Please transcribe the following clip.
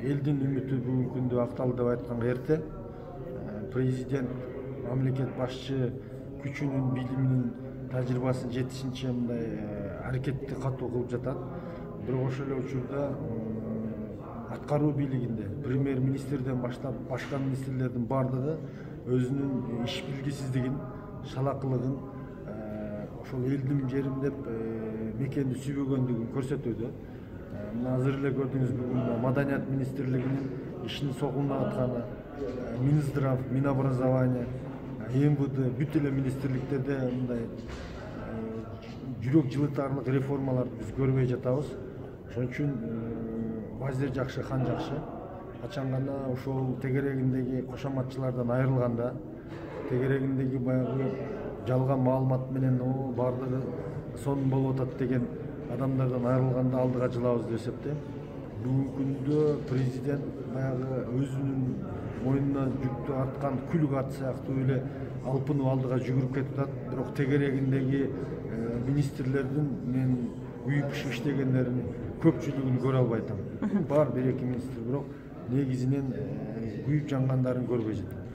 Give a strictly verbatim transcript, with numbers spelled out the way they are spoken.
элдин үмүтү бүгүнкү күндө акталды деп айтканга эрте. Президент мамлекет башчы күчүнүн, билиминин, тажрыйбасынын жетишинче мындай аракетти катуу кылып жатат. Бирок ошол эле учурда аткаруу бийлигинде премьер-министрден баштап башка министрлердин бардыгы өзүнүн иш билгисиздигин, шалакылыгын, ошол элдим жерим деп мекенди сүйбөгөндүгүн көрсөтүүдө. Мына азыр эле көрдүңүз, бүгүн Маданият министрлигинин ишин согулуна атканы, Минздрав, Минобразование, эм вэ дэ бүт эле министрликтерде мындай жүрөк жылытарлык реформаларды биз көрбөй жатабыз. Ошон үчүн вазир жакшы, хан жакшы. Качан гана ошол тегерегиндеги кошоматчылардан айрылганда, тегерегиндеги баягы жалган маалымат менен о бардыгы сонун болуп атат деген адамдардан айрылганда алдыга жылабыз деп эсептейм. Бүгүнкү күндө президент баягы өзүнүн мойнуна жүктү арткан күлүк ат сыяктуу эле алпынып алдыга жүгүрүп кетип атат. Бирок тегерегиндеги министрлердин мен күйүп пишип иштегендеринин көпчүлүгүн көрө албай атам. Бар бир эки министр, бирок негизинен күйүп жангандарын көрбөй жатам.